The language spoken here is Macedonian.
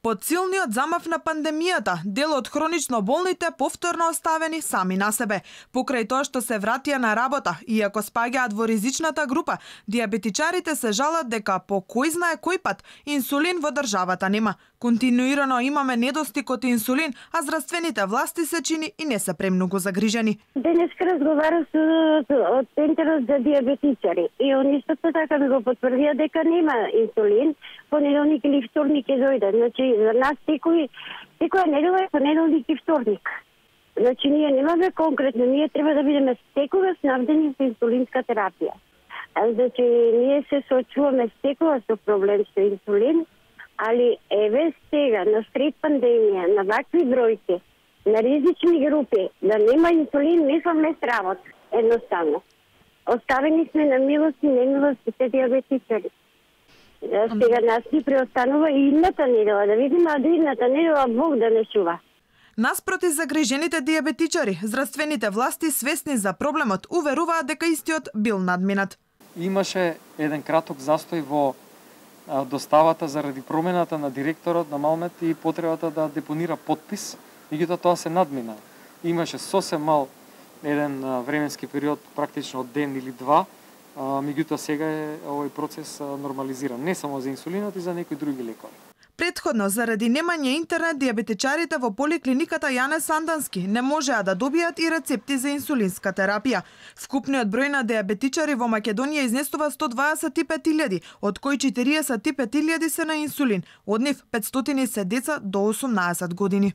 Под силниот замав на пандемијата, дел од хронично болните повторно оставени сами на себе. Покрај тоа што се вратија на работа, иако спаѓаат во ризичната група, диабетичарите се жалат дека по кој знае кој пат инсулин во државата нема. Континуирано имаме недостиг од инсулин, а здравствените власти се чини и не се премногу загрижени. Денеска разговарав со Центарот за диабетичари и они исто така ми го потврдија дека нема инсулин, понеделник или вторник ќе дојде. Значи за нас секоја недела е понеделник и вторник. Значи ние немаме конкретно, ние треба да бидеме секогаш снабдени со инсулинска терапија. Значи ние се соочуваме секогаш со проблем со инсулин, али еве сега на сред пандемија, на вакви бројки, на ризични групи, да нема инсулин, мислам срамот, едноставно. Оставени сме на милост и немилост сите диабетичари. Сега нас ни преостанува и идната недела, да видиме, а до идната недела Бог да не чува. Наспроти загрижените диабетичари, здравствените власти свесни за проблемот уверуваат дека истиот бил надминат. Имаше еден краток застој во доставата заради промената на директорот на Малмет и потребата да депонира подпис, меѓутоа тоа се надмина. Имаше сосем мал еден временски период, практично од ден или два, меѓутоа сега е овој процес нормализиран, не само за инсулинот и за некои други лекови. Предходно, заради немање интернет, диабетичарите во поликлиниката Јане Сандански не можеа да добијат и рецепти за инсулинска терапија. Вкупниот број на диабетичари во Македонија изнесува 125.000, од кои 45.000 се на инсулин, од нив 500 се деца до 18 години.